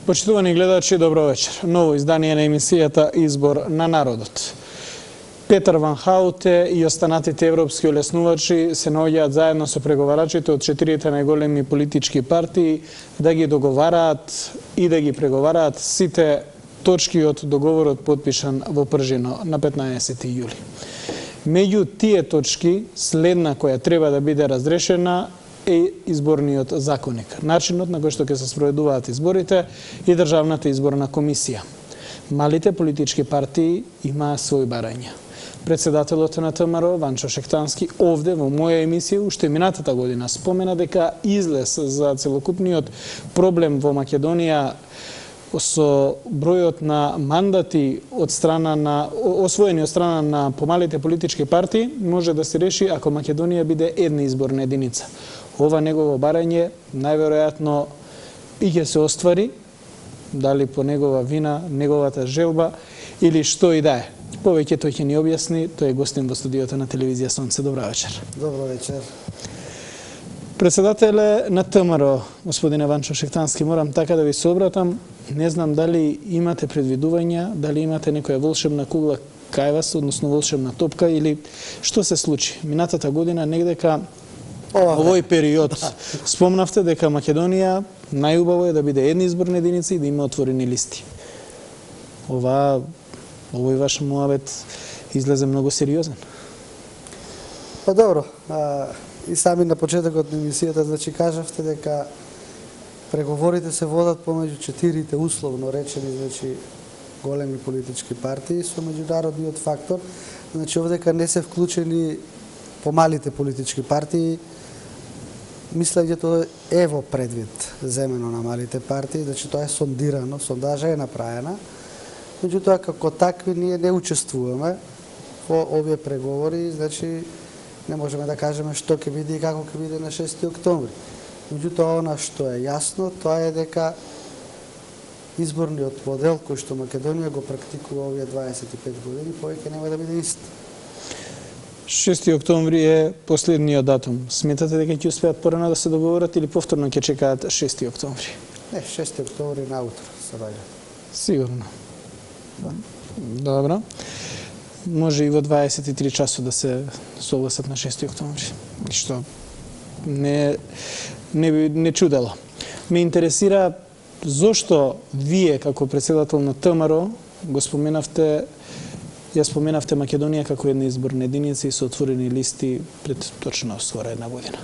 Почитувани гледачи, добро вечер. Ново издание на емисијата Избор на народот. Петар Ван Хауте и останатите европски олеснувачи се наоѓаат заедно со преговарачите од 4 најголеми политички партии да ги договараат и да ги преговараат сите точки од договорот подпишан во Пржино на 15 јули. Меѓу тие точки, следна која треба да биде разрешена е изборниот законник, начинот на кој што ќе се спроведуваат изборите и Државната изборна комисија. Малите политички партии имаа своји барања. Председателот на ТМРО, Ванчо Шектански, овде во моја емисија уште минатата година спомена дека излез за целокупниот проблем во Македонија со бројот на мандати од страна на освоени од страна на помалите политички партии може да се реши ако Македонија биде една изборна единица. Ова негово барање најверојатно и ќе се оствари, дали по негова вина, неговата желба или што и да е. Повеќе тој ќе ни објасни, тој е гостин во студиото на телевизија Сонце. Добра вечер. Добро вечер. Председателе на ТМРО, господине Ванчо Шектански, морам така да ви се обратам. Не знам дали имате предвидувања, дали имате некоја волшебна кугла кај вас, односно волшебна топка, или што се случи? Минатата година негдека во овој период спомнавте дека Македонија најубаво е да биде една изборна единица и да има отворени листи. Овој ваш муабет излезе многу сериозен. Па добро, и сами на почетокот на емисијата значи кажавте дека преговорите се водат помеѓу 4 условно речени значи големи политички партии со меѓународниот фактор. Значи овдека не се вклучени помалите политички партии. Мислењето е во предвид земено на малите партии, значи тоа е сондирано, сондажа е направена. Меѓутоа, како такви, ние не учествуваме во овие преговори, значи не можеме да кажеме што ќе биде и како ќе биде на 6 октомври. Меѓутоа, она што е јасно, тоа е дека изборниот модел кој што Македонија го практикува овие 25 години, повеќе нема да биде ист. 6 октомври е последниот датум. Сметате дека ќе успеат порано да се договорат или повторно ќе чекаат 6 октомври? Не, 6 октомври наутро се ваѓа. Сигурно. Добро. Може и во 23 часот да се согласат на 6 октомври. Што не чудело. Ме интересира зошто вие како председател на ТМРО ја споменавте Македонија како една изборна единица и со отворени листи пред точно скоро една година.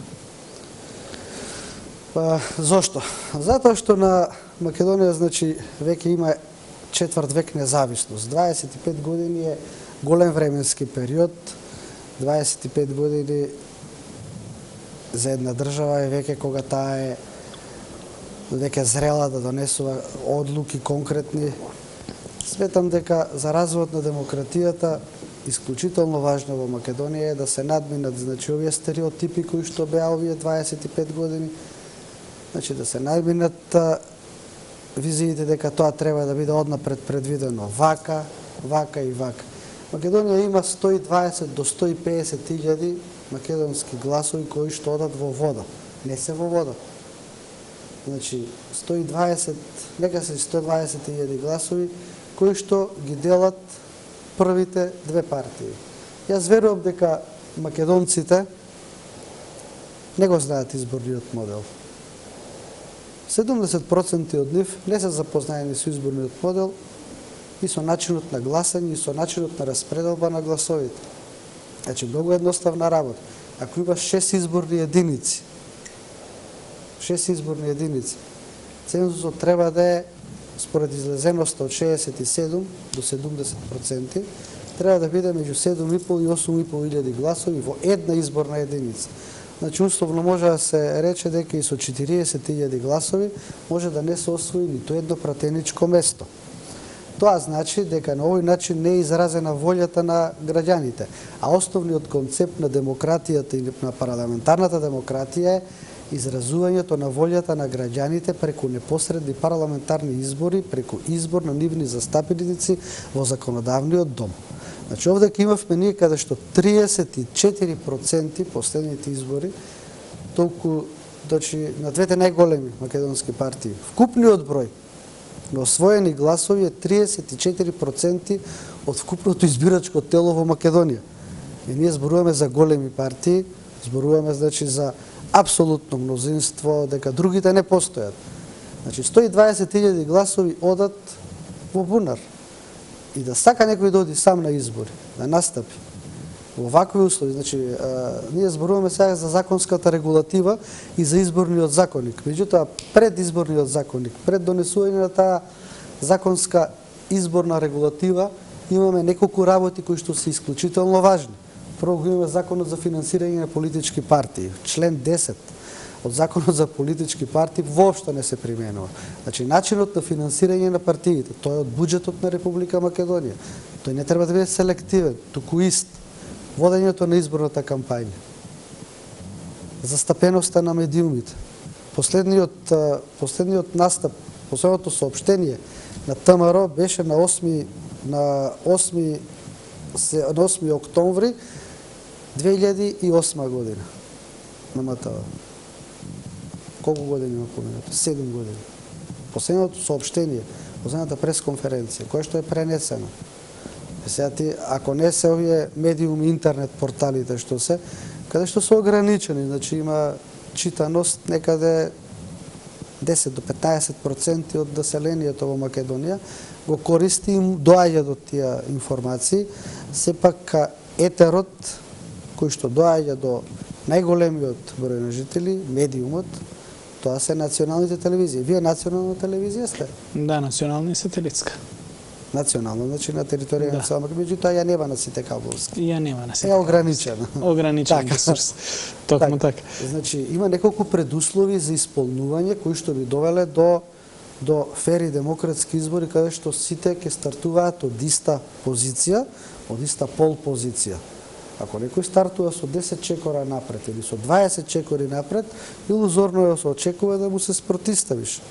Па зошто? Затоа што на Македонија значи веќе има четврт век независност. 25 години е голем временски период. 25 години за една држава е веќе кога таа е веќе зрела да донесува одлуки конкретни. Сметам дека за развојот на демократијата исклучително важно во Македонија е да се надминат значи овие стереотипи кои што беа овие 25 години. Значи да се надминат визиите дека тоа треба да биде однапред предвидено вака и вака. Македонија има 120 до 150 илјади македонски гласови кои што одат во вода. Не се во вода. Значи 120, нека се 120.000 гласови кои што ги делат првите две партии. Јас верувам дека македонците не го знаат изборниот модел. 70% од нив не се запознаени со изборниот модел и со начинот на гласање и со начинот на распределба на гласовите. Значи, многу едноставна работа. Ако имаш 6 изборни единици, цензусот треба да е според излезеноста од 67 до 70%, треба да биде меѓу 7,5 и 8,5 илјади гласови во една изборна единица. Значи, условно може да се рече дека и со 40.000 гласови може да не се освои ниту едно пратеничко место. Тоа значи дека на овој начин не е изразена волјата на граѓаните, а основниот концепт на демократијата и на парламентарната демократија е изразувањето на волјата на граѓаните преку непосредни парламентарни избори, преку избор на нивни застапници во законодавниот дом. Значи, овде имавме ние каде што 34% последните избори, толку, значи, на двете најголеми македонски партии. Вкупниот број но освоени гласови е 34% од вкупното избирачко тело во Македонија. И ние зборуваме за големи партии, зборуваме значи за апсолутно мнозинство, дека другите не постојат. Значи 120.000 гласови одат во бунар. И да сака некој да оди сам на избори, да настапи во вакви услови, значи ние зборуваме сега за законската регулатива и за изборниот законник. Меѓутоа пред изборниот законник, пред донесување на таа законска изборна регулатива, имаме неколку работи кои што се исклучително важни. Прво го имаме Законот за финансирање на политички партии. Член 10 од Законот за политички партии воопшто не се применува. Значи, начинот на финансирање на партиите, тој е од буџетот на Република Македонија. Тој не треба да биде селективен, туку ист. Водењето на изборната кампања. Застапеноста на медиумите. Последниот настап, последното соопштение на ТМРО беше на 8 октомври 2008 година на МТВ. Колку години има поминато? 7 години. Последното соопштение, последната пресконференција, која што е пренесена. Сега ти, ако не се овие медиуми, интернет порталите што се, каде што се ограничени, значи има читаност некаде 10 до 15% од населението во Македонија, го користи и доаѓа до тие информации, сепак етерот кој што доаѓа до најголемиот број на жители, медиумот, тоа се националните телевизии. Вие национална телевизија сте? Да, национална и сателитска. Национално, значи на територија на цела Македонија, меѓутоа ја нема на сите кабелски. Ја нема на сите. Е ограничена. Ограничен ресурс. Токму така. Значи има неколку предуслови за исполнување кои што би довеле до фери демократски избори каде што сите ќе стартуваат од иста позиција, од иста пол позиција. Ако некој стартува со 10 чекора напред или со 20 чекори напред, илузорно е да се очекува да му се спротиставиш.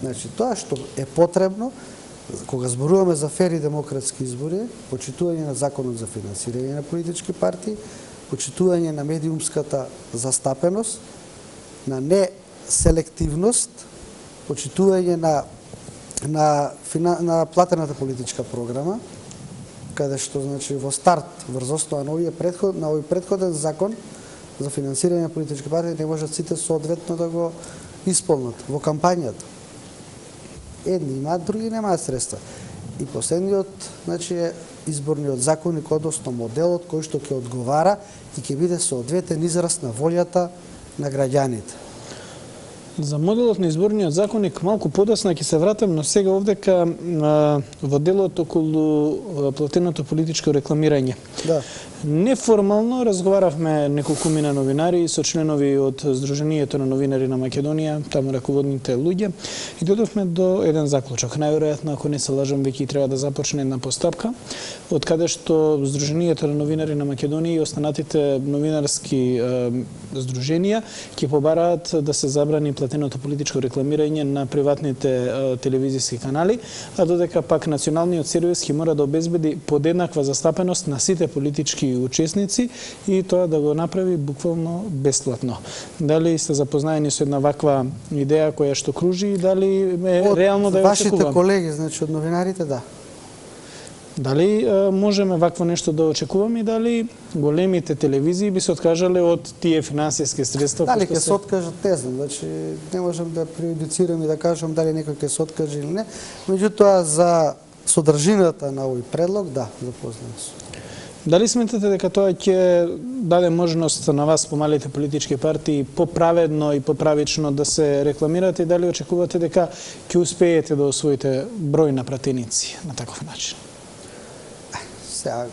Значи тоа што е потребно кога зборуваме за фери демократски избори, почитување на законот за финансирање на политички партии, почитување на медиумската застапеност, на неселективност, почитување на платената политичка програма, каде што значи во старт врз основа на овој претходен закон за финансирање на политички партии не можат сите соодветно да го исполнат во кампањата. Едни имаат, други немаат средства. И последниот, значи, е изборниот законник, односно моделот кој што ќе одговара и ќе биде соодветен израз на волјата на граѓаните. За моделот на изборниот законник малку подоцна ќе се вратам, но сега овдека во делот околу платеното политичко рекламирање. Да. Неформално разговаравме неколкумина новинари со членови од Сдруженијето на новинари на Македонија, таму раководните луѓе, и додовме до еден заклучок. Најверојатно, ако не се лажам, веќе треба да започне една постапка, од каде што Сдруженијето на новинари на Македонија и останатите новинарски здруженија ќе побараат да се забрани платеното политичко рекламирање на приватните телевизиски канали, а додека пак националниот сервис ќе мора да обезбеди подеднаква застапеност на сите политички учесници и тоа да го направи буквално бесплатно. Дали сте запознаени со една ваква идеја која што кружи и дали е реално да ја очекуваме? Вашите колеги, значи од новинарите, да. Дали можеме вакво нешто да очекуваме и дали големите телевизии би се откажале од тие финансиски средства? Дали ќе се откажат, не знам, значи не можам да преюдицирам и да кажам дали некој ќе се откаже или не. Меѓутоа за содржината на овој предлог, да, запознам се. Дали сметате дека тоа ќе даде можност на вас, помалите политички партии, поправедно и поправично да се рекламирате и дали очекувате дека ќе успеете да освоите број на пратеници на таков начин? Сега,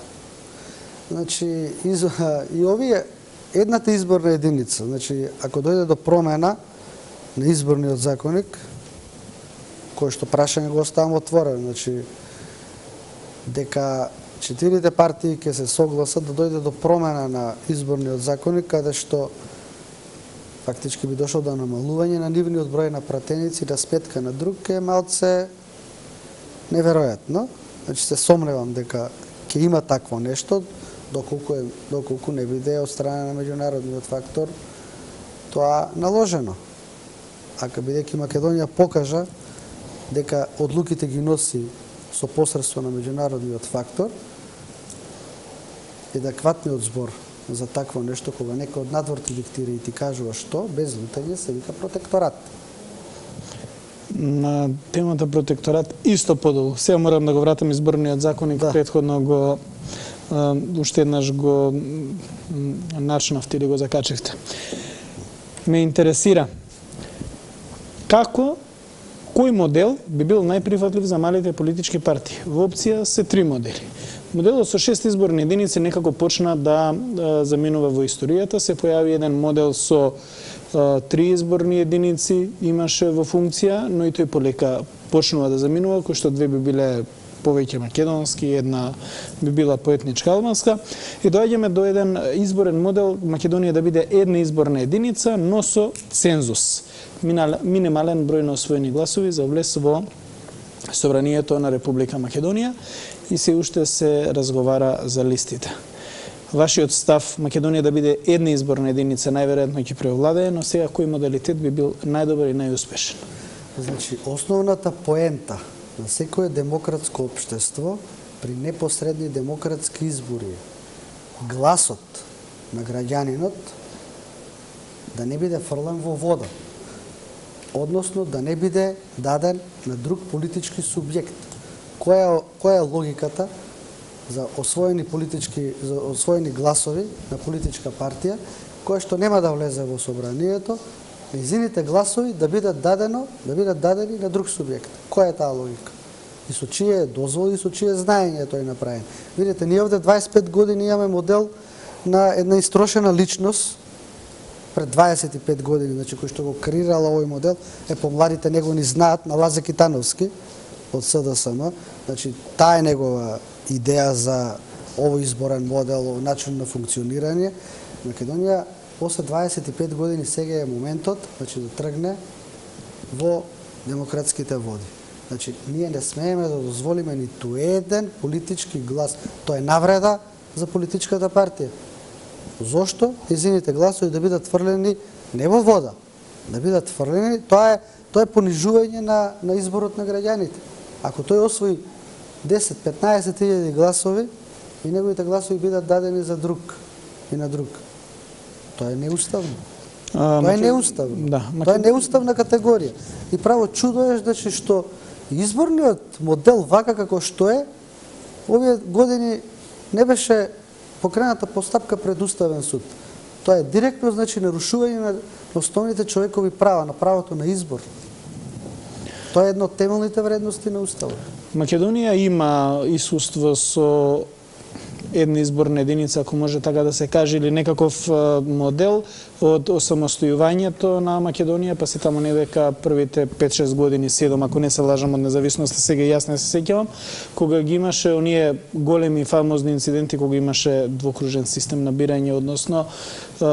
значи, и овие, едната изборна единица, значи, ако дојде до промена на изборниот законник, кој што прашање го оставам отворено, значи, дека четирите партии ќе се согласат да дојде до промена на изборниот законник, каде што фактички би дошло до намалување на нивниот број на пратеници, да сметка на друг е малце неверојатно. Значи, се сомневам дека ќе има такво нешто, доколку не биде од страна на меѓународниот фактор тоа наложено. Ако бидејќи Македонија покажа дека одлуките ги носи со посредство на меѓународниот фактор, едекватниот збор за такво нешто, кога некој од надвор ти диктира и ти кажува што, без лутање се вика протекторат. На темата протекторат исто подолу. Сега морам да го вратам изборниот законник, претходно го уште еднаш го начнавте или го закачивте. Ме интересира како, кој модел би бил најприфатлив за малите политички партии? Во опција се 3 модели. Моделот со 6 изборни единици некако почна да заминува во историјата, се појави еден модел со 3 изборни единици имаше во функција, но и тој полека почнува да заминува, кој што 2 би биле повеќе македонски, една би била поетничка албанска, и доаѓаме до еден изборен модел Македонија да биде една изборна единица, но со цензус. Минимален број на освоени гласови за влез во Собранието на Република Македонија и се уште се разговара за листите. Вашиот став Македонија да биде една изборна единица најверојатно ќе преовладее, но сега кој модалитет би бил најдобар и најуспешен? Значи, основната поента на секое демократско општество при непосредни демократски избори гласот на граѓанинот да не биде фрлен во вода, односно да не биде даден на друг политички субјект. Која е логиката за освоени гласови на политичка партија, која што нема да влезе во собранието, незините гласови да бидат дадени на друг субјект. Која е таа логика? И со чие дозволи, и со чие знаење тој направен. Видите, ние овде 25 години имаме модел на една истрошена личност пред 25 години, значи кој што го креирала овој модел, помладите него ни знаат, на Лазе Китановски од СДСМ, значи таа е негова идеја за овој изборен модел, начин на функционирање. Македонија после 25 години сега е моментот, значи да тргне во демократските води. Значи ние не смееме да дозволиме ниту еден политички глас. Тоа е навреда за политичката партија. Зошто? Незините гласови да бидат фрлени не во вода, да бидат фрлени, тоа е понижување на изборот на граѓаните. Ако тој освои 10-15 илјади гласови и неговите гласови бидат дадени за друг и на друг, тоа е неуставно. Тоа е неуставно. Тоа е неуставна категорија. И право чудо е значи што изборниот модел вака како што е, овие години не беше покрената постапка пред Уставен суд. Тоа е директно значи нарушување на основните човекови права, на правото на избор. Тоа е едно од темелните вредности на Уставот. Македонија има искуство со една изборна единица, ако може така да се каже, или некаков модел од осамостојувањето на Македонија, па се таму недека првите 5-6 години, 7, ако не се лажам од независноста, сега јас не се сеќавам, кога ги имаше оние големи фамозни инциденти, кога имаше двокружен систем на бирање, односно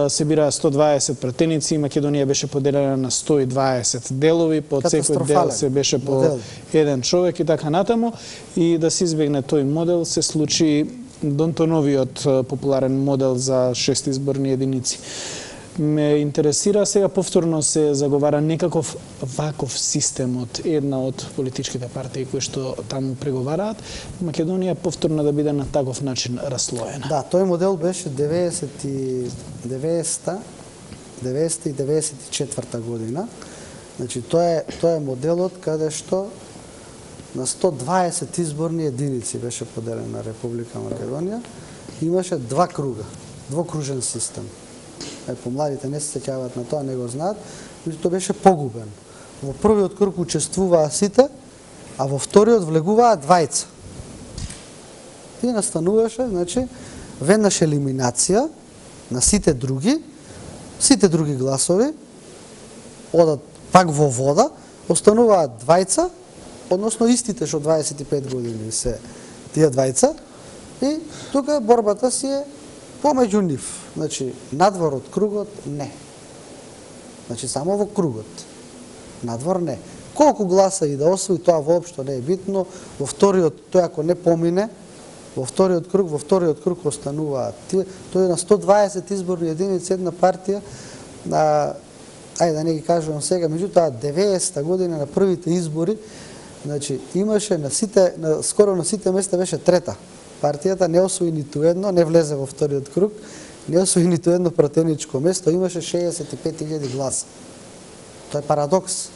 се бираа 120 пратеници, Македонија беше поделена на 120 делови, под секој дел се беше по еден човек и така натаму, и да се избегне тој модел, се случи Донтоновиот популарен модел за 6 изборни единици. Ме интересира, сега повторно се заговара некаков ваков систем од една од политичките партии кои што таму преговараат, Македонија повторно да биде на таков начин раслоена. Да, тој модел беше 90 и 94 година. Значи тоа е моделот каде што на 120 изборни единици беше поделена Република Македонија. Имаше 2 круга, двокружен систем. Помладите не се сеќаваат на тоа, не го знаат, но тоа беше погубен. Во првиот круг учествуваа сите, а во вториот влегуваа двајца. И настануваше, значи, веднаш елиминација на сите други гласови, одат пак во вода, остануваат двајца, односно истите што 25 години се тие двајца, и тука борбата си е помеѓу нив. Значи, надвор од кругот не. Значи, само во кругот. Надвор не. Колку гласа и да освои, тоа воопшто не е битно. Во вториот, тој ако не помине, во вториот круг остануваат тие. Тој на 120 изборни единици една партија, ајде да не ги кажувам сега, меѓутоа 90-та година на првите избори, Значи, имаше скоро на сите места беше трета. Партијата не освои ниту едно, не влезе во вториот круг, не освои ниту едно пратеничко место, имаше 65.000 гласа. Тоа е парадокс.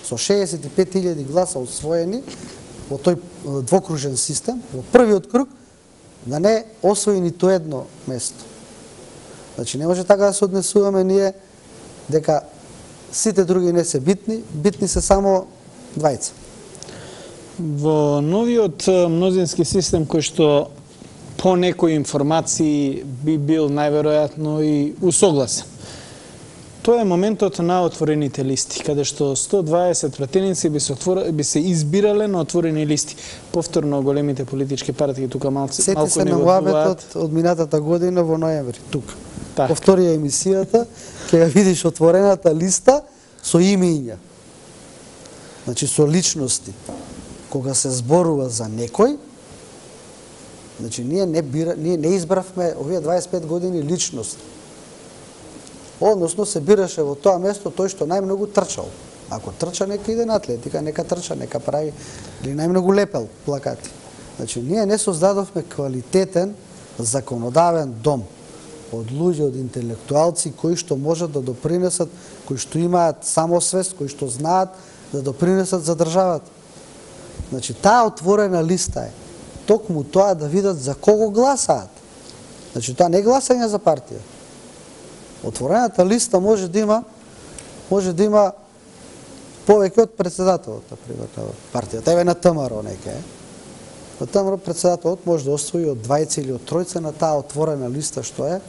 Со 65.000 гласа освоени во тој двокружен систем, во првиот круг, да не освои ниту едно место. Значи, не може така да се однесуваме ние дека сите други не се битни, битни се само двајца. Во новиот мнозински систем кој што по некои информации би бил најверојатно и усогласен. Тоа е моментот на отворените листи, каде што 120 пратеници би се избирале на отворени листи. Повторно големите политички партии тука малку не го се на муабетот од минатата година во ноември, тука. Так. Повторија емисијата, ќе ја видиш отворената листа со имења. Значи со личности. Кога се зборува за некој, значи ние не избравме овие 25 години личност. Односно се бираше во тоа место тој што најмногу трчал. Ако трча, нека иде на атлетика, нека трча, нека прави или најмногу лепел плакати. Значи ние не создадовме квалитетен законодавен дом од луѓе, од интелектуалци кои што можат да допринесат, кои што имаат самосвест, кои што знаат да допринесат за државата. Значи таа отворена листа е токму тоа да видат за кого гласаат. Значи тоа не е гласање за партија. Отворената листа може да има повеќе од председателот, например, на партијата. Еве на ТМРО нека е. На ТМРО председателот може да освои од 20 или од 3 на таа отворена листа што е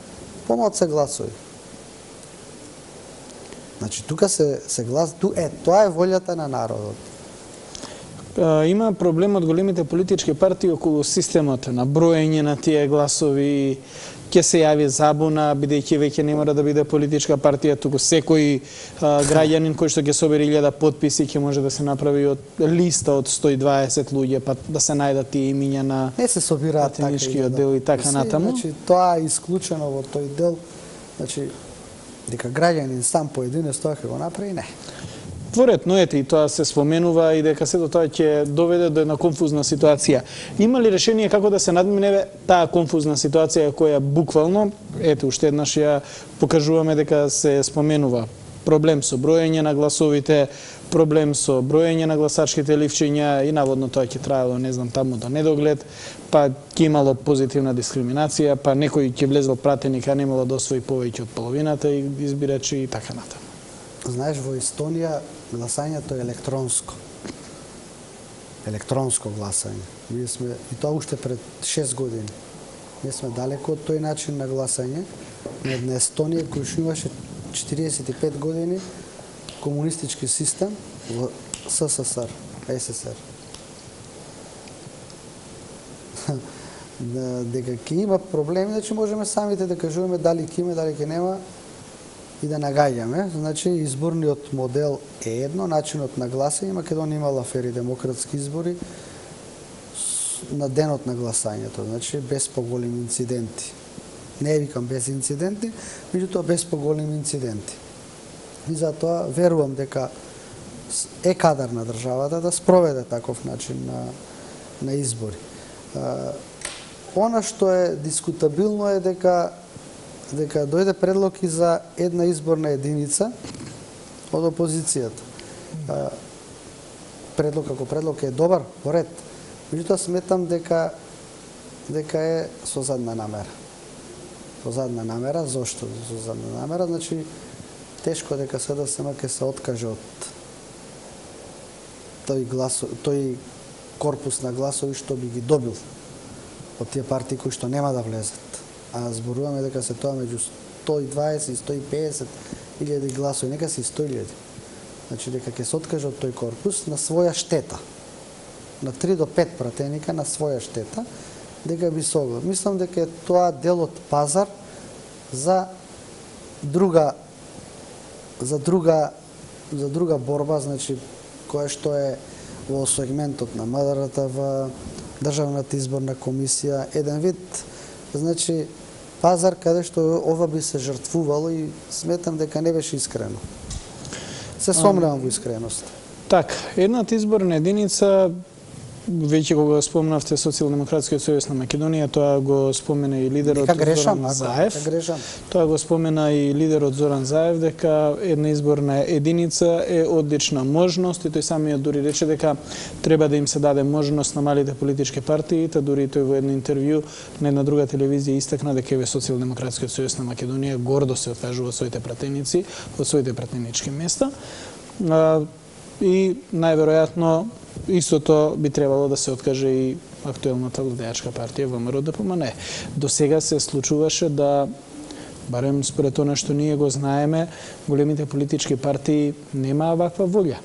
помалку гласови. Значи тука се глас, тоа е волјата на народот. Има проблем од големите политички партии околу системот на броење на тие гласови. Ќе се јави забуна, бидејќи веќе не мора да биде политичка партија, туку секој граѓанин кој што ќе собери 1000 потписи ќе може да се направи од листа од 120 луѓе, па да се најдат тие имиња на не се собираат пратеничкиот дел и така натаму. Значи тоа е исклучено во тој дел. Значи дека граѓанин сам поединец тоа ќе го направи, не. Веројатно ете и тоа се споменува и дека сето тоа ќе доведе до една конфузна ситуација. Има ли решение како да се надмине таа конфузна ситуација која буквално, ете уште еднаш ја покажуваме дека се споменува проблем со броење на гласовите, проблем со броење на гласачките ливчиња и наводно тоа ќе траело, не знам, таму до недоглед, па ќе имало позитивна дискриминација, па некој ќе влезел пратеник, а немало да освои повеќе од половината избирачи и така натаму. Знаеш, во Естонија гласањето е електронско. Електронско гласање. Ние сме, и тоа уште пред 6 години. Ние сме далеко од тој начин на гласање. На една Естонија која што имаше 45 години комунистички систем во СССР, СССР. Дека ќе има проблеми, значи можеме самите да кажуваме дали ќе има, дали ќе нема, и да нагаѓаме. Значи, изборниот модел е едно, начинот на гласање. Македонија имала фери демократски избори на денот на гласањето, значи без поголеми инциденти. Не викам без инциденти, меѓутоа без поголеми инциденти. И затоа верувам дека е кадар на државата да спроведе таков начин на избори. Она што е дискутабилно е дека дојде предлог и за една изборна единица од опозицијата. Предлог како предлог е добар, во ред. Меѓутоа сметам дека е со задна намера. Со задна намера, зошто со задна намера? Значи, тешко дека СДСМ ќе се откаже од тој корпус на гласови што би ги добил од тие партии кои што нема да влезат. А зборуваме дека се тоа меѓу 120 и 150 илјади гласови, нека се 100.000. Значи дека ќе се откаже од тој корпус на своја штета. На 3 до 5 пратеника на своја штета, дека би се оглед. Мислам дека е тоа дел од пазар за друга борба, значи која што е во сегментот на МДР-та, во Државната изборна комисија, еден вид, значи, пазар каде што ова би се жртвувало и сметам дека не беше искрено. Се сомневам во искреност. Така, едната изборна единица, веќе кога спомнавте Социјалдемократскиот сојуз на Македонија, тоа го спомена и лидерот Зоран Заев. Тоа го спомена и лидерот Зоран Заев, дека една изборна единица е одлична можност и тој самиот дури рече дека треба да им се даде можност на малите политички партии, та дури тој во едно интервју на една друга телевизија истакна дека еве Социјалдемократскиот сојуз на Македонија гордо се откажува од своите пратеници, од своите пратенички места. И најверојатно истото би требало да се откаже и актуелната владеачка партија ВМРО-ДПМНЕ. До сега се случуваше да, барем според тоа што ние го знаеме, големите политички партии немаа ваква волја.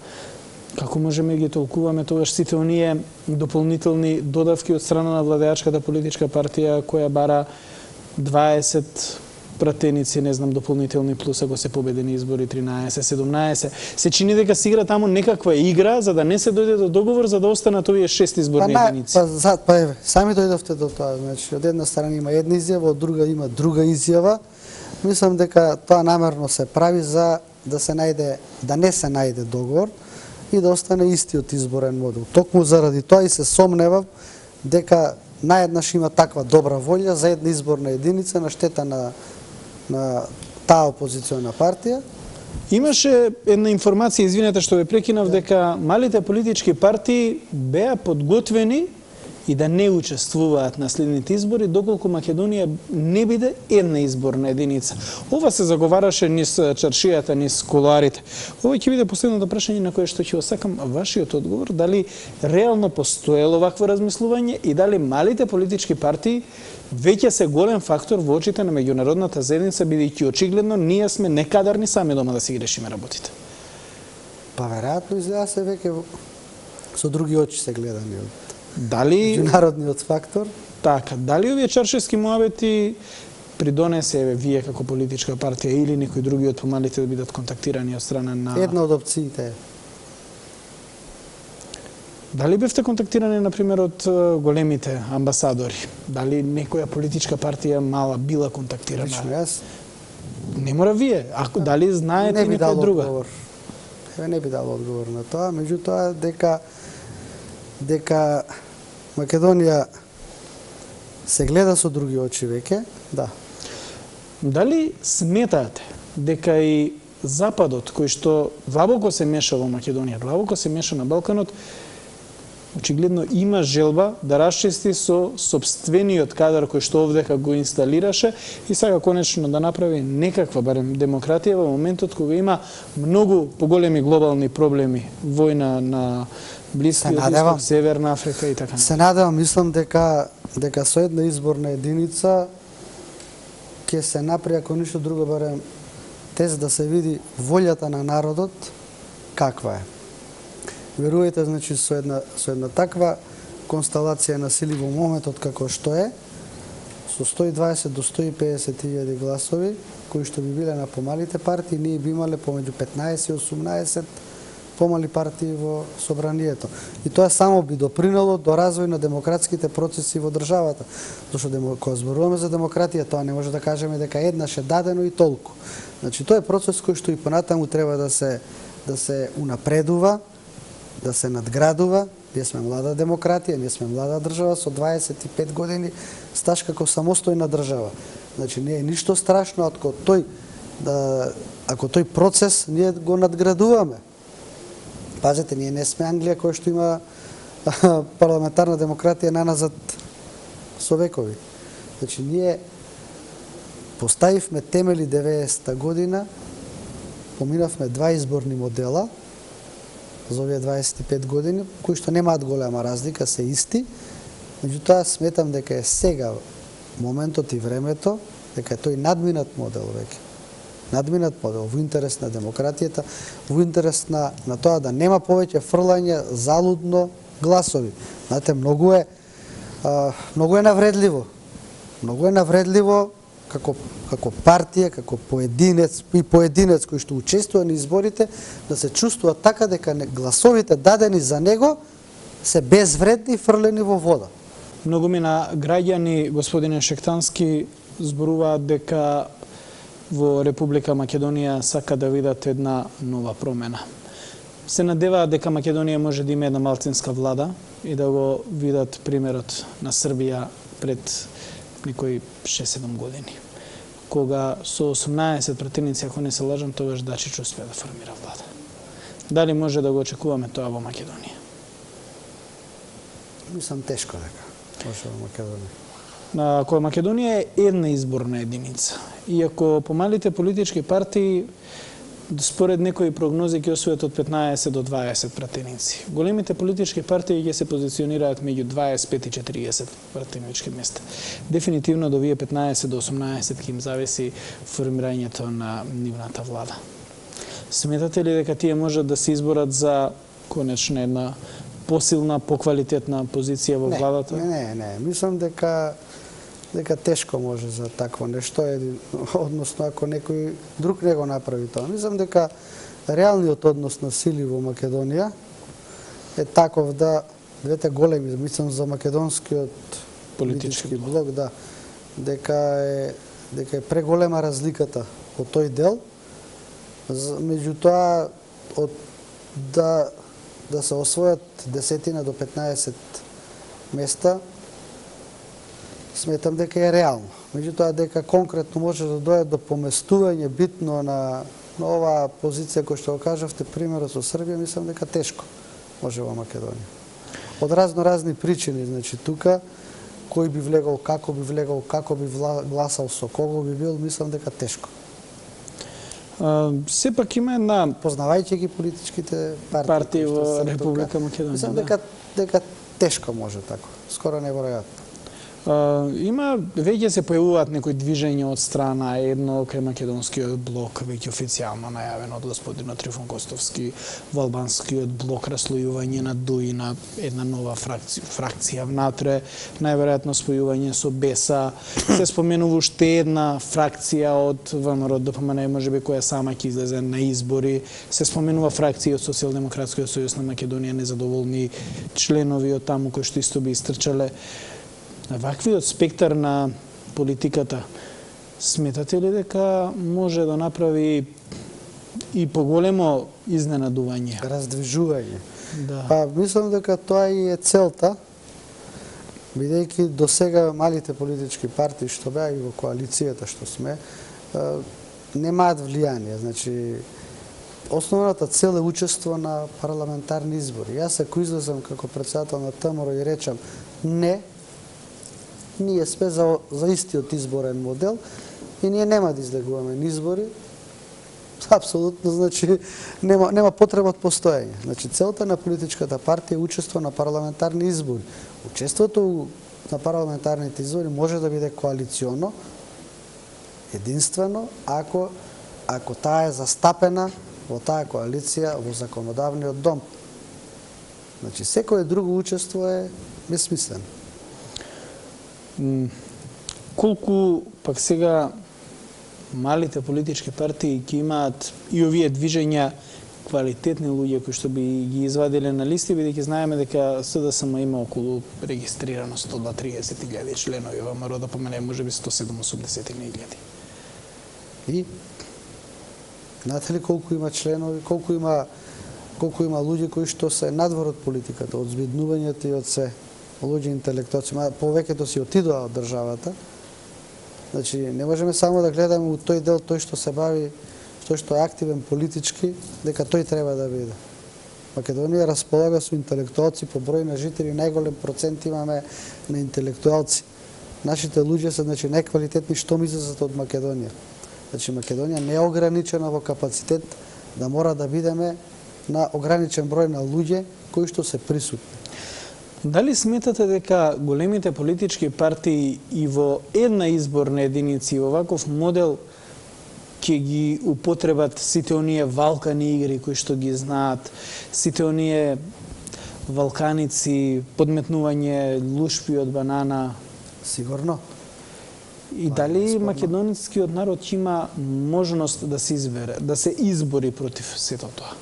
Како можеме ги толкуваме тогаш сите оние дополнителни додавки од страна на владеачката политичка партија која бара 20 пратеници, не знам, дополнителни плюс ако се победени избори 13, 17. Се чини дека се игра таму некаква игра за да не се дојде до договор за да останат овие 6 изборни единици. Еве, сами дојдовте до тоа. Значи, од една страна има една изјава, од друга има друга изјава. Мислам дека тоа намерно се прави за да се најде, да не се најде договор и да остане истиот изборен модел. Токму заради тоа и се сомневам дека наеднаш има таква добра волја за една изборна единица на штета на таа опозициона партија. Имаше една информација, извинете што ве прекинав, дека малите политички партии беа подготвени и да не учествуваат на следните избори доколку Македонија не биде една изборна единица. Ова се заговараше низ чаршијата, низ кулоарите. Ова ќе биде последното прашање на кое што ќе осакам вашиот одговор, дали реално постоело вакво размислување и дали малите политички партии веќе се голем фактор во очите на меѓународната заедница, бидејќи очигледно ние сме некадарни сами дома да си ги решиме работите. Па веројатно изгледа се веќе со други очи се гледани од меѓународниот фактор. Така, дали овие чаршески муабети придонесе вие како политичка партија или некои други од помалите да бидат контактирани од страна на... Една од опциите. Дали бевте контактирани, например, од големите амбасадори? Дали некоја политичка партија мала била контактирана? Лично јас? Не мора вие. Дали знаете некоја друга? Не би дал одговор на тоа, меѓутоа дека Македонија се гледа со други очи веќе, да. Дали сметате дека и Западот, кој што длабоко се меша во Македонија, длабоко се меша на Балканот, очигледно има желба да расчисти со сопствениот кадар кој што овдека го инсталираше и сака конечно да направи некаква барем демократија во моментот кога има многу поголеми глобални проблеми, војна на Блискиот Исток, Северна Африка и така. Се надевам, мислам дека со една изборна единица ќе се направи, ако ништо друго, барем тез да се види волјата на народот каква е. Верувајте, значи, со една таква констелација на сили во моментот како што е, со 120 до 150 илјади гласови, кои што би биле на помалите партии, ние би имале помеѓу 15 и 18 помали партии во собранието. И тоа само би допринело до развој на демократските процеси во државата. Зашто кога зборуваме за демократија, тоа не може да кажеме дека еднаш е дадено и толку. Значи, тоа е процес кој што и понатаму треба да се унапредува, да се надградува. Ние сме млада демократија, ние сме млада држава со 25 години стаж како самостојна држава. Значи, не е ништо страшно ако тој процес ние го надградуваме. Пазете, ние не сме Англија која што има парламентарна демократија наназад со векови. Значи, ние поставивме темели 90-та година, поминавме два изборни модела за овие 25 години, кои што немаат голема разлика, се исти. Меѓутоа, сметам дека е сега моментот и времето, дека е тој надминат модел веќе. Надминат модел во интерес на демократијата, во интерес на тоа да нема повеќе фрлање залудно гласови. Знаете, многу е навредливо. Многу е навредливо како партија, како поединец кој што учествува на изборите, да се чувствува така дека гласовите дадени за него се безвредни и фрлени во вода. Многу мина граѓани, господине Шектански, зборуваат дека во Република Македонија сака да видат една нова промена. се надеваат дека Македонија може да има една малцинска влада и да го видат примерот на Србија пред некои 6-7 години, кога со 18 пратеници, ако не се лажам, тогаш Дачич успеа да формира влада. Дали може да го очекуваме тоа во Македонија? Мислам тешко дека може во Македонија. Ако Македонија е една изборна единица, и ако помалите политички партии според некои прогнози ќе освојат од 15 до 20 пратеници. Големите политички партии ќе се позиционираат меѓу 25 и 40 пратенички места. Дефинитивно до вие 15 до 18 ќе им зависи формирањето на нивната влада. Сметате ли дека тие можат да се изборат за конечно една посилна, поквалитетна позиција во владата? Не. Мислам дека тешко може за такво нешто, односно ако некој друг не го направи тоа. Мислам дека реалниот однос на сили во Македонија е таков да двете големи, мислам за македонскиот политички блок, да, дека е преголема разликата во тој дел. Меѓутоа да се освојат 10 до 15 места, сметам дека е реално. Меѓутоа дека конкретно може да дојде до поместување битно на оваа позиција која што го кажавте, примерот со Србија, мислам дека тешко може во Македонија. Од разни причини, значи тука кој би влегол, како би гласал, со кого би бил, мислам дека тешко. Сепак има една познавајќи ги политичките партии во Република Македонија. Мислам дека тешко може тако, скоро неверојатно. Има, веќе се појавуваат некои движења од страна едно кај македонскиот блок, веќе официјално најавено од господинот Трифон Костовски, во албанскиот блок раслојување на ДУИ на една нова фракција внатре, најверојатно спојување со БЕСА, се споменува уште една фракција од ВМРО ДПМН, можеби која сама ќе излезе на избори, се споменува фракција од Социјалдемократскиот сојуз на Македонија, незадоволни членови од таму кои што исто би истрчале. Ваквиот спектар на политиката, сметате ли дека може да направи и поголемо изненадување? Раздвижување. Да. Па, мислам дека тоа и е целта, бидејќи до сега малите политички партии што беа и во коалицијата што сме, немаат влијание. Значи, основната цел е учество на парламентарни избори. Јас ако излезам како председател на ТМРО и речам не, ние сме за истиот изборен модел и ние нема да излегуваме на избори, апсолутно, значи, нема потреба од постоење. Значи, целта на политичката партија е учество на парламентарни избори. Учеството на парламентарните избори може да биде коалиционо, единствено, ако таа е застапена во таа коалиција во законодавниот дом. Значи, секое друго учество е безсмислено. Колку пак сега малите политички партии ќе имаат и овие движења квалитетни луѓе кои што би ги извадиле на листи, бидејќи знаеме дека СДСМ има околу регистрирано 130.000 членови, во ВМРО ДПМН можеби 180.000. И знаете ли колку има членови, колку има луѓе кои што се надвор од политиката, од збиднувањето и од се луѓе интелектуалци, повеќето си отидоа од државата. Значи, не можеме само да гледаме у тој дел, тој што се бави, тој што е активен политички, дека тој треба да биде. Македонија располага со интелектуалци по број на жители, најголем процент имаме на интелектуалци. Нашите луѓе се, значи, најквалитетни што излезат од Македонија. Значи, Македонија не е ограничена во капацитет да мора да бидеме на ограничен број на луѓе кои што се присутни. Дали сметате дека големите политички партии и во една изборна единица и во ваков модел ќе ги употребат сите оние валкани игри кои што ги знаат, сите оние валканици, подметнување лушпи од банана? Сигурно. И дали македонскиот народ има можност да се избере, да се избори против сето тоа?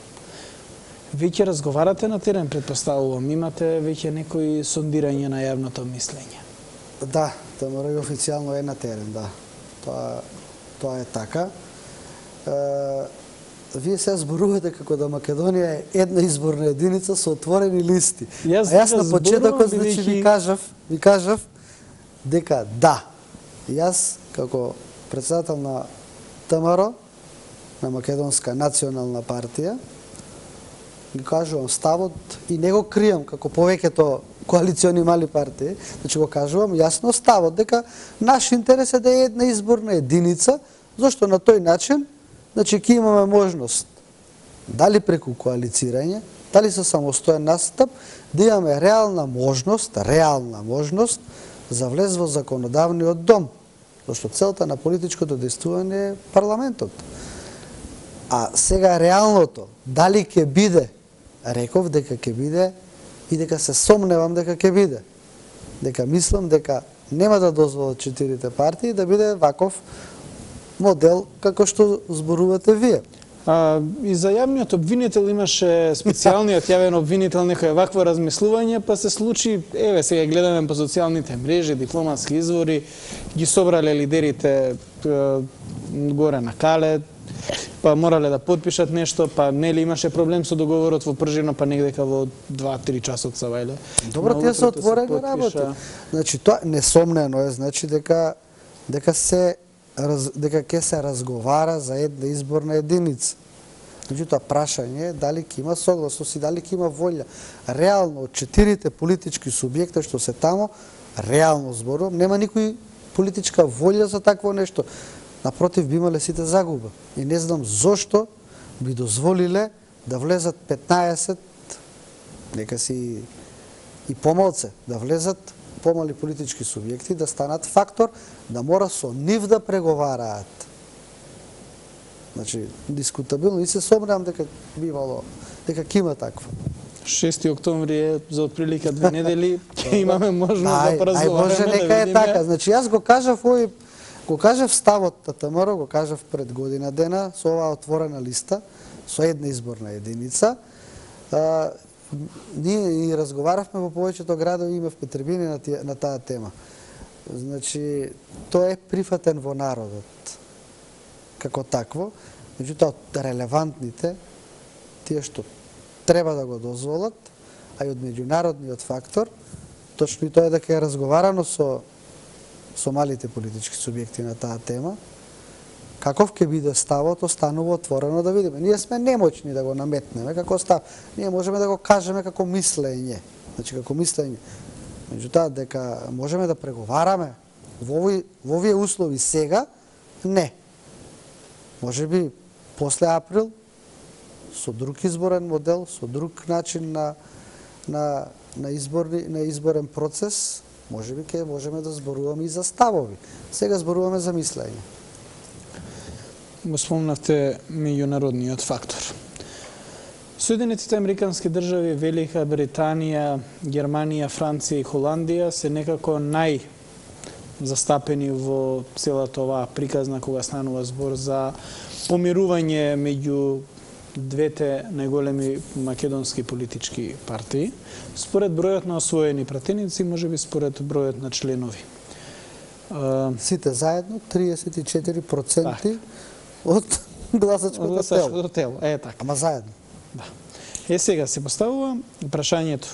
Веќе разговарате на терен, предпоставувам, имате веќе некои сондирање на јавното мислење? Да, ТМРО и официјално е на терен, да. Тоа е така. вие сега зборувате како да Македонија е една изборна единица со отворени листи. Јас на почетокот значи ви кажав дека да. Јас како председател на ТМР, на Македонска национална партија, ги кажувам ставот и не го кријам како повеќето коалициони мали партии, значи го кажувам јасно ставот дека наш интерес е да е една изборна единица, зашто на тој начин значи ќе имаме можност дали преку коалицирање, дали со самостоен настап, да имаме реална можност за влез во законодавниот дом, зашто целта на политичкото действување е парламентот. А сега реалното, дали ќе биде, реков дека ќе биде и дека се сомневам дека ќе биде. Дека мислам дека нема да дозволат 4 партии да биде ваков модел како што зборувате вие. И за јавниот обвинител имаше специјалниот јавен обвинител некој вакво размислување, па се случи, еве сега гледаме по социјалните мрежи, дипломатски извори, ги собрале лидерите горе на Кале, па морале да потпишат нешто, па нели имаше проблем со договорот во Пржино, па негдека во 2-3 часот са вајле. Добро, тие се отворени работи. Значи тоа несомнено е, значи дека ќе се разговара за една изборна единица. Меѓутоа, прашање е дали ќе има согласност и дали ќе има волја. Реално, од 4 политички субјекта што се тамо, реално зборувам, нема никој политичка волја за такво нешто. Напротив, би имале сите загуба. И не знам зошто би дозволиле да влезат 15, нека си и помалце, да влезат помали политички субјекти, да станат фактор, да мора со нив да преговараат. Значи, дискутабилно, и се сомневам дека бивало, дека ќе има такво. 6 октомври е за отприлика 2 недели, ќе имаме можност да поразговараме. Може нека е така. Значи, јас го кажав ставот на ТМР, го кажав пред година дена, со оваа отворена листа, со една изборна единица. Ние и разговаравме во повеќето градови, имавме трибини на таа тема. Значи, тоа е прифатен во народот како такво, меѓутоа релевантните, тие што треба да го дозволат, а и од меѓународниот фактор, точно и тоа е дека е разговарано со малите политички субјекти на таа тема, каков ќе биде ставот, останува отворено да видиме. Ние сме немоćни да го наметнеме како став. Ние можеме да го кажеме како мислење. Значи, како мислење. Меѓутоа, дека можеме да преговараме во овие услови сега, не. Може би после април, со друг изборен модел, со друг начин на изборен процес, може би ќе можеме да зборуваме и за ставови. Сега зборуваме за мислење. Го спомнавте меѓународниот фактор. Соединетите американски држави, Велика Британија, Германија, Франција и Холандија се некако најзастапени во целата оваа приказна кога станува збор за помирување меѓу двете најголеми македонски политички партии, според бројот на освоени пратеници, можеби според бројот на членови. Сите заедно 34% од гласачкото тело. Е така. Ама заедно. Да. Сега се поставува прашањето.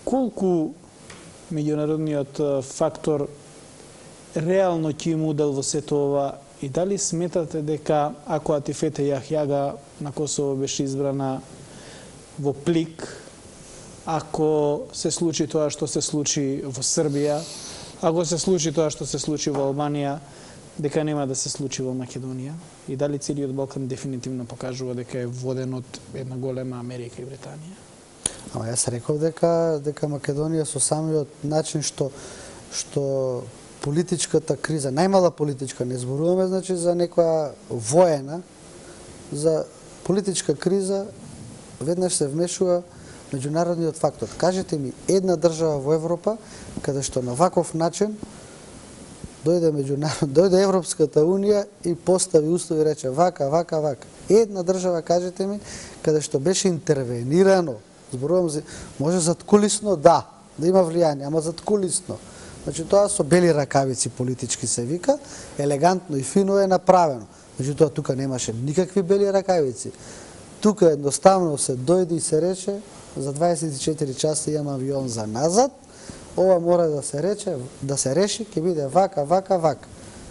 Колку меѓународниот фактор реално ќе има удел во сето ова и дали сметате дека ако Атифете Јахјага на Косово беше избрана во плик, ако се случи тоа што се случи во Србија, ако се случи тоа што се случи во Албанија, дека нема да се случи во Македонија? И дали целиот Балкан дефинитивно покажува дека е воден од една голема Америка и Британија? Ама јас реков дека Македонија со самиот начин што политичката криза, најмала политичка, не зборуваме значи за некоја воена, за политичка криза веднаш се вмешува меѓународниот фактор. Кажете ми една држава во Европа каде што на ваков начин дојде Европската унија и постави услови и рече вака. Една држава, кажете ми, каде што беше интервенирано, зборувам за, може заткулисно, да има влијание, ама заткулисно. Значи тоа со бели ракавици политички се вика, елегантно и фино е направено. Меѓутоа тука немаше никакви бели ракавици. Тука едноставно се дојде и се рече за 24 часа имам авион за назад. Ова мора да се реши, ќе биде вака, вака, вака.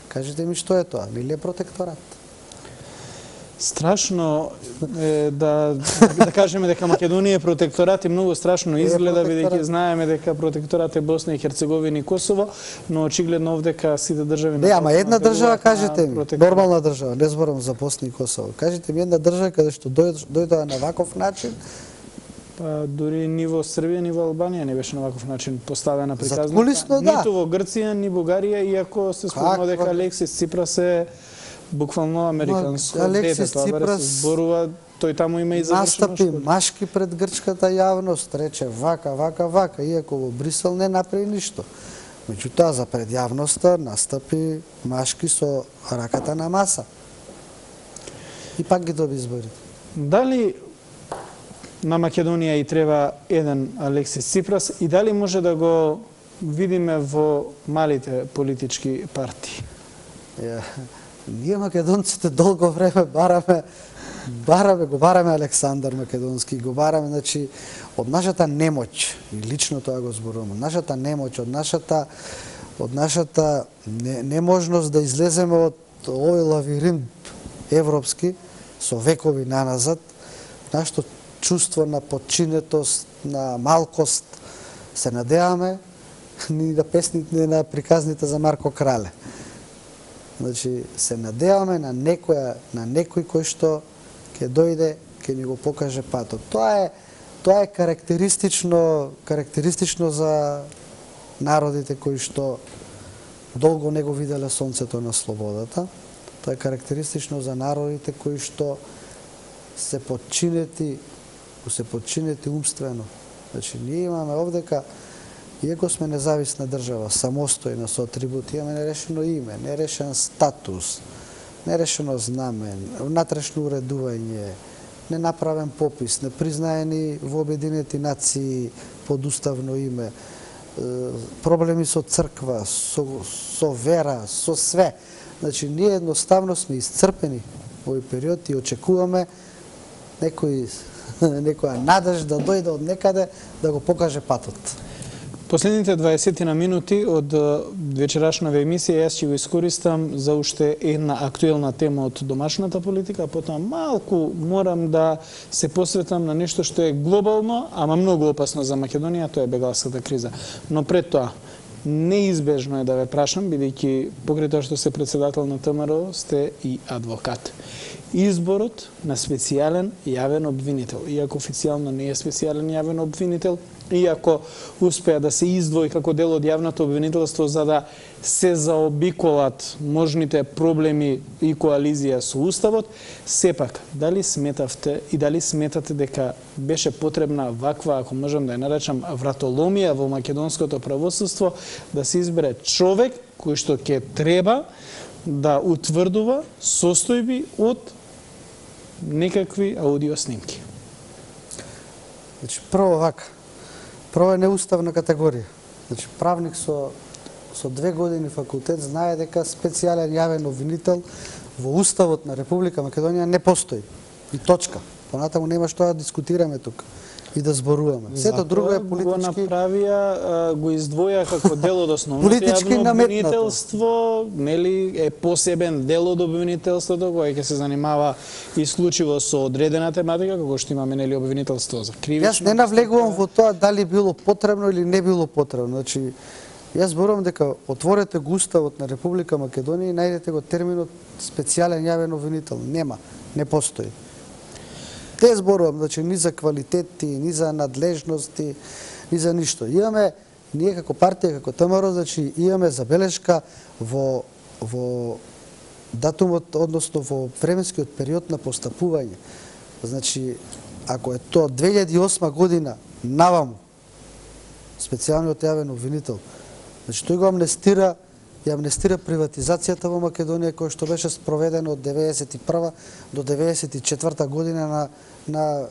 Кажете ми што е тоа? Нели е протекторат? Страшно е да кажеме дека Македонија е протекторат и многу страшно изгледа, бидејќи знаеме дека протекторат е Босна и Херцеговина и Косово, но очигледно овдека сите држави... Не, ама една држава, кажете ми, нормална држава, не зборам за Босна и Косово, кажете ми една држава каде што дојдоа на ваков начин. Па дури ниво Србија, ниво Албанија не беше на ваков начин поставена приказната. Заткулисно, да. Ниту во Грција, ни Бугарија, иако се спомнува дека Алексис Ципрас е буквално американско дете, тоа се зборува, тој таму има и завршено настапи машки пред грчката јавност, рече вака, вака, вака, иако во Брисел не направи ништо. Меѓутоа, за пред јавноста настапи машки со раката на маса. И пак ги доби изборите. Дали на Македонија и треба еден Алексис Ципрас и дали може да го видиме во малите политички партии? Ние македонците долго време го бараме Александар Македонски, го бараме, значи, од нашата немоќ, и лично тоа го зборувам, од нашата немоќ, од нашата неможност да излеземе од овој лавиринт европски, со векови наназад, нашето чувство на подчинетост, на малкост, се надеваме ни на песните, на приказните за Марко Крале. Значи, се надеваме на некој кој што ќе дојде, ќе ни го покаже патот. Тоа е карактеристично за народите кои што долго не го виделе сонцето на слободата. Тоа е карактеристично за народите кои што се подчинети умствено. Значи, ние имаме овдека, иако сме независна држава, самостојна, со атрибути, имаме нерешено име, нерешен статус, нерешено знамен, внатрешно уредување, ненаправен попис, непризнаени во Обединети нации подуставно име, проблеми со црква, со вера, со све. Значи, ние едноставно сме iscrpени во овој период и очекуваме некоја надежда да дојде од некаде да го покаже патот. Последните 20 на минути од вечерашнава емисија јас ќе го искористам за уште една актуелна тема од домашната политика, а потоа малку морам да се посветам на нешто што е глобално, ама многу опасно за Македонија, тоа е бегалската криза. Но пред тоа, неизбежно е да ве прашам, бидејќи покрај тоа што се председател на ТМРО, сте и адвокат. Изборот на специјален јавен обвинител, иако официјално не е специјален јавен обвинител, иако успеа да се издвои како дел од јавното обвинителство за да се заобиколат можните проблеми и коализија со Уставот, сепак, дали сметавте и дали сметате дека беше потребна ваква, ако можам да ја наречам, вратоломија во македонското правосудство, да се избере човек кој што ќе треба да утврдува состојби од некакви аудио снимки? Значи, прво е неуставна категорија. Значи, правник со 2 години факултет знае дека специјален јавен обвинител во Уставот на Република Македонија не постои. И точка. Понатаму нема што да дискутираме тука и да зборуваме. Сето друго е политички... Го направија, го издвоја како дел од основното јавно обвинителство, нели е посебен дел од обвинителството кој ќе се занимава исклучиво со одредена тематика, како што имаме нели обвинителство за кривично. Јас не навлегувам во тоа дали било потребно или не било потребно. Значи, јас зборувам дека отворете го Уставот на Република Македонија и најдете го терминот специјален јавен обвинител. Нема, не постои. Те зборувам, значи, ни за квалитети, ни за надлежности, ни за ништо. Имаме, ние како партија, како ТМРО, значи, имаме забелешка во датумот, односно во временскиот период на постапување. Значи, ако е тоа 2008 година наваму, специјалниот јавен обвинител, значи, тој го амнестира приватизацијата во Македонија која што беше спроведена од 1991 до 1994 година на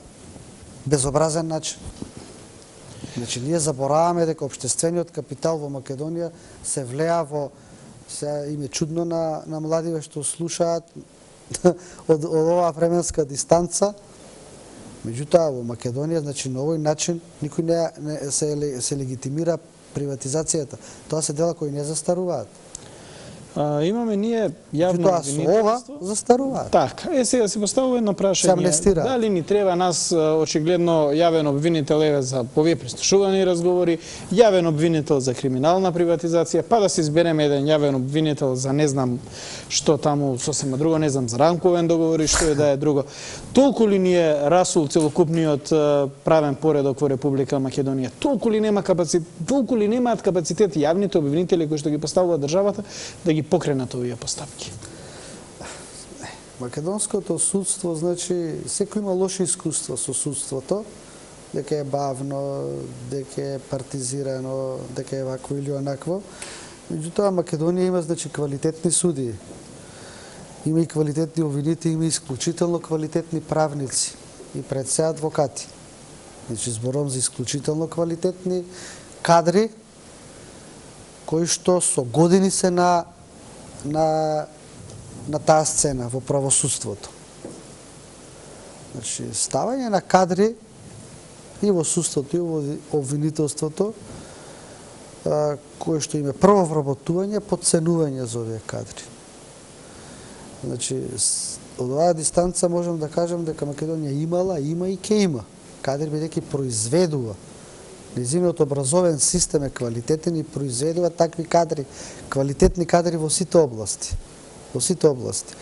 безобразен начин. Значи, ние забораваме дека општествениот капитал во Македонија се влеа во... Сега им е чудно на младиве што слушаат, од оваа временска дистанца. Меѓутоа во Македонија, значи на овој начин никој не се легитимира приватизацијата. Тоа се дела кои не застаруваат. Имаме ние јавно обвинителство. Ова застаруваат. Така, сега се поставува едно прашање. Дали ни треба нас очигледно јавен обвинител за овие прислушувани разговори, јавен обвинител за криминална приватизација, па да се избереме еден јавен обвинител за не знам што таму сосема друго, не знам за рамковен договор и што е да е друго. Толку ли ни е расул целокупниот правен поредок во Република Македонија? Толку ли немаат капацитет јавните обвинители кои што ги поставува државата да ги покренат овие поставки? Македонското судство, значи, секој има лоши искуства со судството, дека е бавно, дека е партизирано, дека е вакво или онакво. Меѓутоа, Македонија има, значи, квалитетни судии. Има и квалитетни обвинители, има исклучително квалитетни правници и пред се адвокати. Значи, зборам за исклучително квалитетни кадри, кои што со години се на таа сцена во правосудството. Значи, ставање на кадри и во судството, и во обвинителството, кое што име прво вработување, подценување за овие кадри. Значи, од оваа дистанца можам да кажам дека Македонија имала, има и ќе има кадри, бидејќи произведува. Незиниот образовен систем е квалитетен и произведува такви кадри, квалитетни кадри во сите области. Во сите области.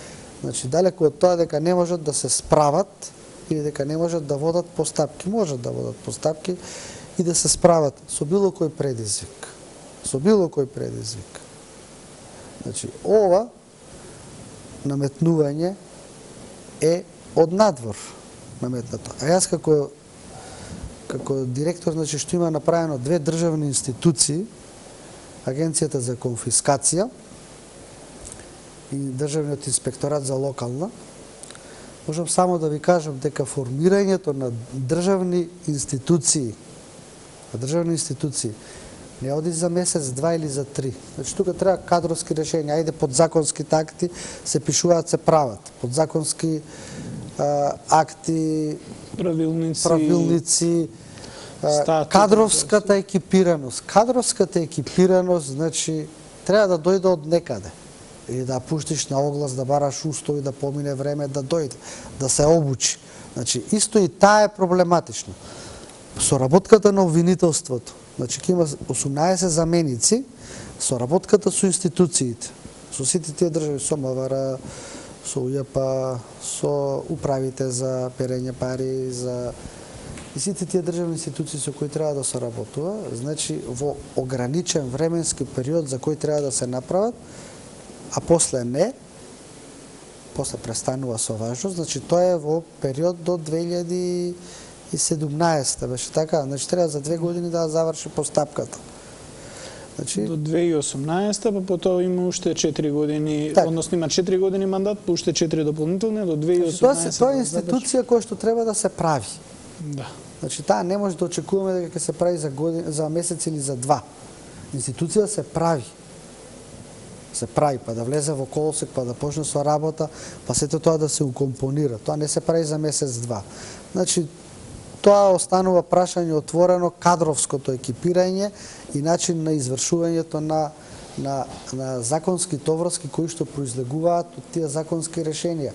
Значи, далеко од тоа дека не можат да се справат или дека не можат да водат постапки. Можат да водат постапки и да се справат со било кој предизвик. Со било кој предизвик. Значи, ова наметнување е од надвор наметнато. А јас како директор, значи, што има направено две државни институции, Агенцијата за конфискација и Државниот инспекторат за локална, можам само да ви кажам дека формирањето на државни институции не оди за месец, два или за три. Значи, тука треба кадровски решенија. Ајде, подзаконските акти се пишуваат, се прават. Подзаконски акти, правилници, кадровската екипираност. Кадровската екипираност, значи, треба да дојде од некаде. Или да пуштиш на оглас, да бараш устои, да помине време, да дојде, да се обучи. Значи, исто и таа е проблематично. Соработката на обвинителството. Значи, ќе има 18 заменици, соработката со институциите, со сите тие држави, со МВР, со УЈП, со управите за перење пари, за и сите тие државни институции со кои треба да се работува, значи во ограничен временски период за кој треба да се направат, а после не, после престанува со важност, значи тоа е во период до 2017, беше така, значи треба за 2 години да заврши постапката. Значи, до 2018, па потоа има уште 4 години, так, односно има 4 години мандат, па уште 4 дополнителни до 2018. Значи, тоа е институција која што треба да се прави. Да. Значи, таа не може да очекуваме дека ќе се прави за месец или за два. Институција се прави. Се прави, па да влезе во колосек, па да почне со работа, па сето тоа да се укомпонира. Тоа не се прави за месец-два. Значи, тоа останува прашање отворено, кадровското екипирање и начин на извршувањето на законските оврски кои што произлегуваат од тие законски решенија.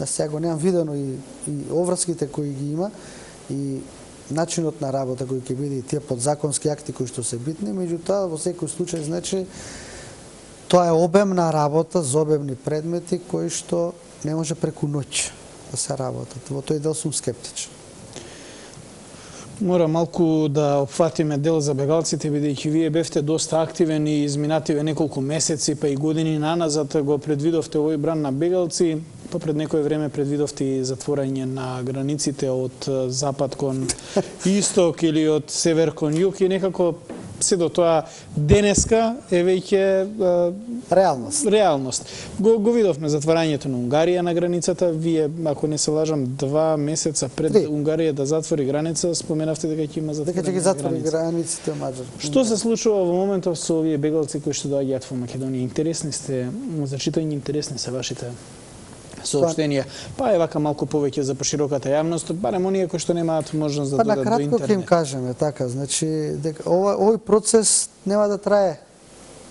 Сега го немам видено и оврските кои ги има и начинот на работа кој ќе биде и тие подзаконски акти кои што се битни, меѓутоа во секој случај, значи, тоа е обемна работа за обемни предмети кои што не може преку ноќ да се работат. Во тој дел сум скептичен. Мора малку да опфатиме дел за бегалците, бидејќи вие бевте доста активен и изминативе неколку месеци, па и години наназад го предвидовте овој бран на бегалци, па пред некој време предвидовте и затворање на границите од запад кон исток или од север кон југ и некако се до тоа денеска е веќе реалност. Го видовме затворањето на Унгарија на границата. Вие, ако не се лажам, 2 месеца пред Унгарија да затвори граница, споменавте дека ќе има затворање. Дека ќе ги затвори границите Маđарска. Што се случува во моментов со овие бегалци кои што доаѓаат во Македонија? Интересни сте, за читање интересни се вашите соопштенија, па е вака малку повеќе за пошироката јавност, барем оние кои што немаат можност да додат до интернет. Па на кратко ќе им кажеме така, значи дека овој процес нема да трае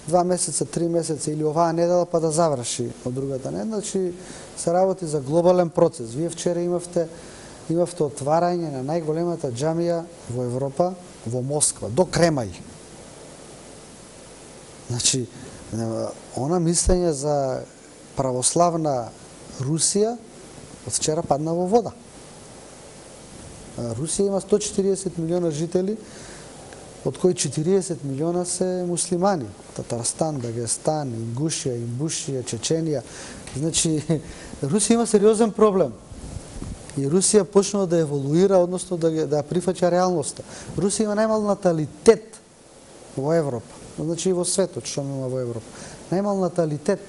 2 месеца, 3 месеца или оваа недела па да заврши од другата недела, значи се работи за глобален процес. Вие вчера имавте отварање на најголемата џамија во Европа, во Москва, до Кремај. Значи, она мислење за православна Русија од вчера падна во вода. Русија има 140 милиона жители, од кои 40 милиона се муслимани. Татарстан, Дагестан, Ингушија, Имбушија, Чеченија. Значи, Русија има сериозен проблем. И Русија почнува да еволуира, односно да прифаќа реалноста. Русија има најмал наталитет во Европа. Значи и во светот, што има во Европа. Најмал наталитет.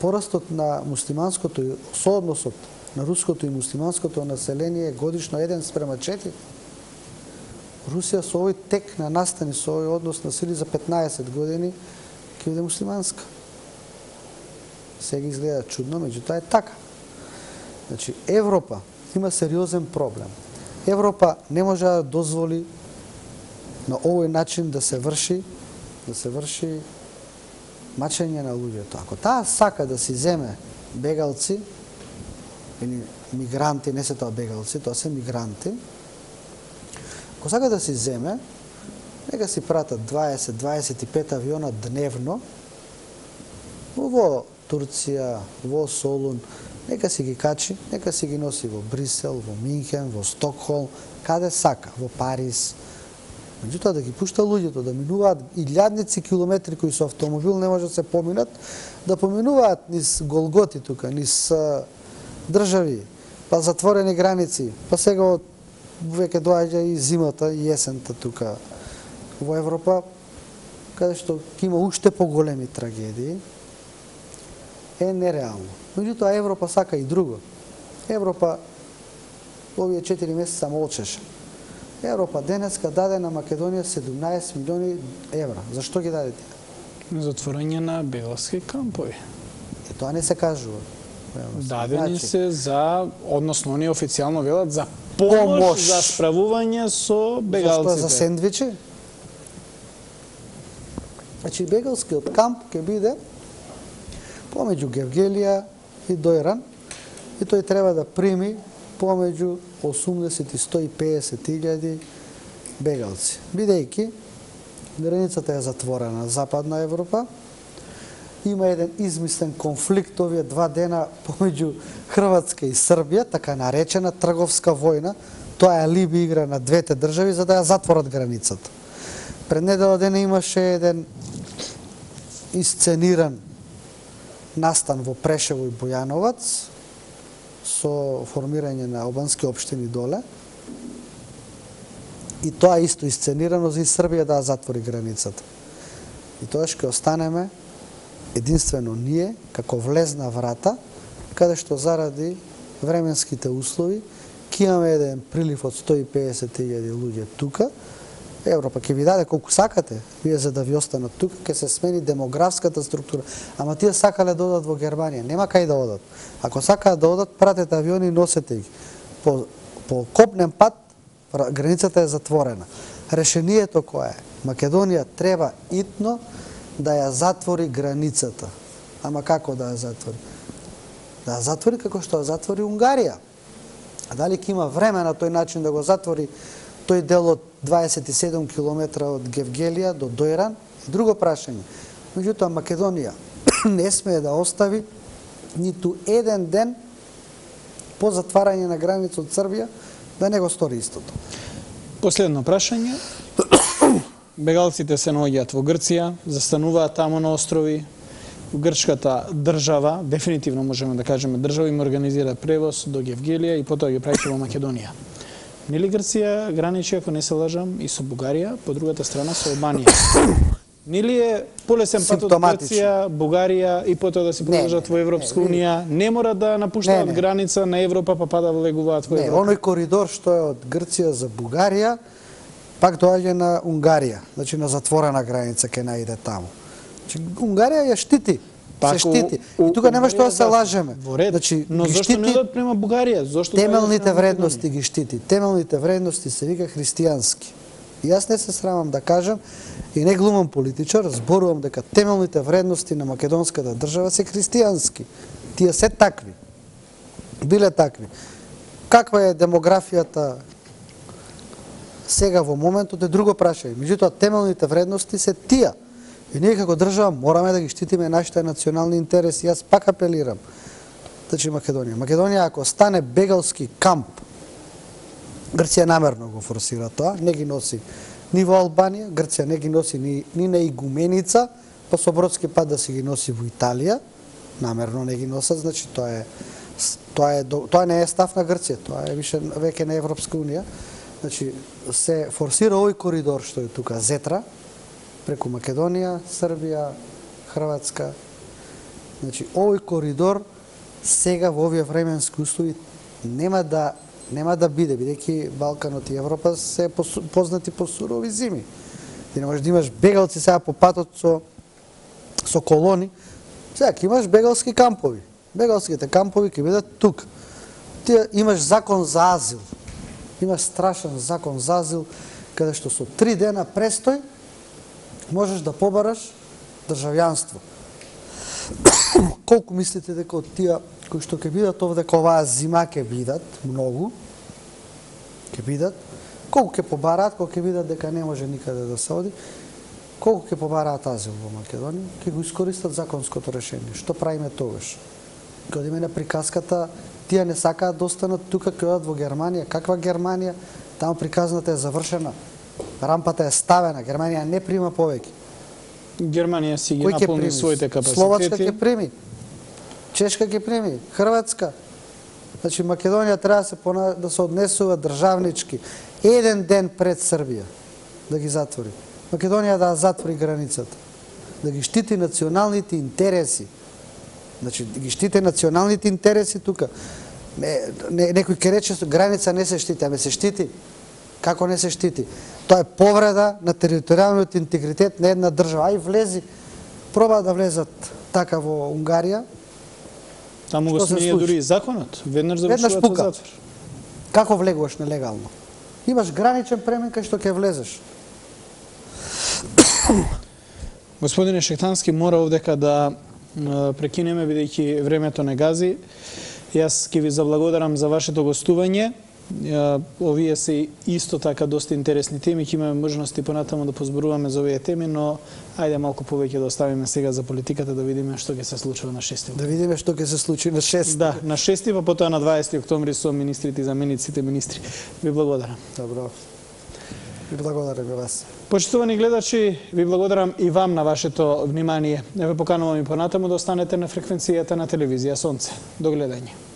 Порастот на муслиманското, соодносот на руското и муслиманското население годишно 1:4. Русија со овој тек на настани, со овој однос на сили за 15 години, ќе биде муслиманска. Сега изгледа чудно, меѓутоа е така. Значи, Европа има сериозен проблем. Европа не може да дозволи на овој начин да се врши мачење на луѓето. Ако таа сака да си земе бегалци или мигранти, не се тоа бегалци, тоа се мигранти, ако сака да си земе, нека си пратат 20-25 авиона дневно во Турција, во Солун, нека си ги качи, нека си ги носи во Брисел, во Минхен, во Стокхолм, каде сака, во Париз. Меѓутоа да ги пушта луѓето да минуваат илјадници километри кои со автомобил не може да се поминат, да поминуваат низ голготи тука, низ држави, па затворени граници, па сега веќе доаѓа и зимата и есента тука во Европа, каде што ќе има уште поголеми трагедии, е нереално. Меѓутоа Европа сака и друго. Европа овие 4 месеца молчеше. Европа денеска даде на Македонија 17 милиони евра. Зашто ги даде тие? Затворање на бегалски кампови. Тоа не се кажува. Дадени се за, односно они официјално велат за помош за справување со бегалците. Зашто за сендвичи? Значи бегалскиот камп ќе биде помеѓу Гевгелија и Дојран и тој треба да прими помеѓу 80 и 150 илјади бегалци. Бидејќи границата е затворена на Западна Европа, има еден измислен конфликт овие 2 дена помеѓу Хрватска и Србија, така наречена трговска војна. Тоа е алиби игра на двете држави за да ја затворат границата. Пред недела дена имаше еден исцениран настан во Прешево и Бојановац со формирање на албански општини доле. И тоа исто исценирано за и Србија да затвори границата. И тоа ќе останеме единствено ние, како влезна врата, каде што заради временските услови, ќе имаме еден прилив од 150.000 луѓе тука. Европа ќе ви даде колку сакате, вие за да ви останат тука, ќе се смени демографската структура. Ама тие сакале да одат во Германија, нема кај да одат. Ако сакаат да одат, пратете авиони и носете ги. По копнен пат, границата е затворена. Решението кое е? Македонија треба итно да ја затвори границата. Ама како да ја затвори? Да ја затвори како што ја затвори Унгарија. А дали ќе има време на тој начин да го затвори тој дел од 27 километра од Гевгелија до Дојран? Друго прашање. Меѓутоа Македонија не смее да остави ниту еден ден по затварање на граница од Србија да не го стори истото. Последно прашање. Бегалците се наоѓаат во Грција, застануваат таму на острови. Грчката држава, дефинитивно можеме да кажеме држава, им организира превоз до Гевгелија и потоа ги праќа во Македонија. Нели Грција граничи, ако не се лажам, и со Бугарија, по другата страна со Албанија. Нели е полесен пат од Грција, Бугарија и потоа да се продолжат во Европска унија, не мора да напуштаат граница на Европа па да влегуваат во Европа? Не, оној коридор што е од Грција за Бугарија, пак доаѓа на Унгарија, значи на затворена граница ќе наиде таму. Значи, Унгарија ја штити се штити. И тука нема што да се лажеме. Значи, но зошто не одат према Бугарија? Зошто темелните вредности ги штити? Темелните вредности се вика христијански. И јас не се срамам да кажам и не глумам политичар, зборувам дека темелните вредности на македонската држава се христијански. Тие се такви. Биле такви. Каква е демографијата сега во моментот е друго прашање. Меѓутоа темелните вредности се тие. И ние како држава мораме да ги штитиме нашите национални интереси. Јас пак апелирам. Значи Македонија. Македонија ако стане бегалски камп, Грција намерно го форсира тоа, не ги носи ни во Албанија, Грција не ги носи ни на Игуменица, па со бродски пат да си ги носи во Италија, намерно не ги носат, значи тоа не е став на Грција, тоа е веќе на Европска унија. Значи се форсира овој коридор што е тука, Зетра, преку Македонија, Србија, Хрватска. Значи овој коридор сега во овие временски услови нема да биде, бидејќи Балканот и Европа се познати по сурови зими. Ти не можеш да имаш бегалци сега по патот со колони. Сега ќе имаш бегалски кампови. Бегалските кампови ќе бидат тук. Ти имаш закон за азил. Имаш страшен закон за азил, каде што со 3 дена престој можеш да побараш државјанство. Колку мислите дека од тие кои што ќе бидат овде оваа зима ќе бидат, многу, ќе бидат, колку ќе побараат, колку ќе видат дека не може никаде да се оди, колку ќе побараат азил во Македонија, ќе го искористат законското решение. Што правиме тогаш? Ќе одиме на приказката, тие не сакаат да останат тука, ќе одат во Германија. Каква Германија? Таму приказната е завршена, рампата е ставена, Германија не прима повеќе. Германија си ги наполни своите капацитети. Словачка ќе прими, Чешка ќе прими, Хрватска. Значи Македонија треба да се однесува државнички. Еден ден пред Србија да ги затвори. Македонија да затвори границата. Да ги штити националните интереси. Значи да ги штити националните интереси тука. Некој ќе рече граница не се штити, аме се штити. Како не се штити? Тоа е повреда на територијалниот интегритет на една држава. Ај влези, проба да влезат така во Унгарија. Таму го сменија дури и законот. Веднаш завршуваат во затвор. Како влегуваш нелегално? Имаш граничен премен кај што ќе влезеш. Господине Шехтански, мора овдека да прекинеме, бидејќи времето не гази. Јас ќе ви заблагодарам за вашето гостување. Овие се исто така доста интересни теми, ќе имаме можности понатаму да позборуваме за овие теми, но ајде малку повеќе да оставиме сега за политиката, да видиме што ќе се случи на 6. Да видиме што ќе се случи на 6. Да, на 6, па потоа на 20 октомври со министрите и замениците министри. Ви благодарам. Добро. Ви благодарам и вас. Почитувани гледачи, ви благодарам и вам на вашето внимание. Еве поканувам и понатаму да останете на фреквенцијата на телевизија Сонце. До гледање.